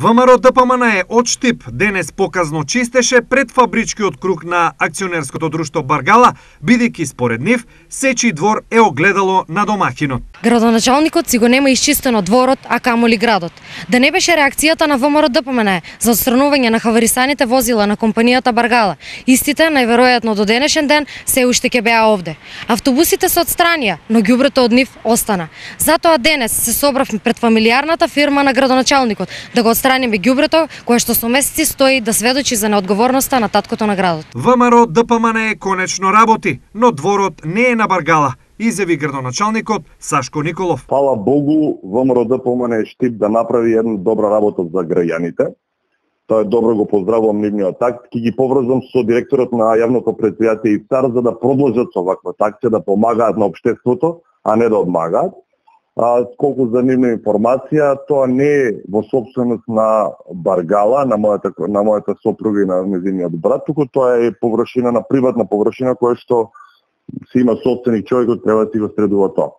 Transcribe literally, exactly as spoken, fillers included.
ВМРО Д П М Н Е од Штип денес показно чистеше пред фабричкиот круг на акционерското друштво Баргала, бидејќи според нив сечи двор е огледало на домаќинот. Градоначалникот си го нема исчистено дворот, а камоли градот. Да не беше реакцијата на ВМРО Д П М Н Е за отстранување на хаварисаните возила на компанијата Баргала, истите најверојатно до денешен ден се уште ќе беа овде. Автобусите се отстранија, но ѓубрето од нив остана. Затоа денес се собравме пред фамилијарната фирма на градоначалникот да го отстраниме ѓубрето кое што со месеци стои да сведочи за неодговорноста на таткото на градот. ВМРО Д П М Н Е конечно работи, но дворот не е на Баргала, изјави градоначалникот Сашко Николов. Фала Богу, ВМРО Д П М Н Е Штип да направи една добра работа за граѓаните. Тоа е добро, го поздравувам нивниот акт. Ки ги поврзам со директорот на јавното претпријатие ИФТАР за да продолжат со ваква акција, да помагаат на општеството, а не да одмагаат. А, колку за нивна информација, тоа не е во собственост на Баргала, на мојата, на мојата сопруга и на незиниот брат, туку тоа е површина на приватна површина која што си има собственик човекот, треба да си го средува тоа.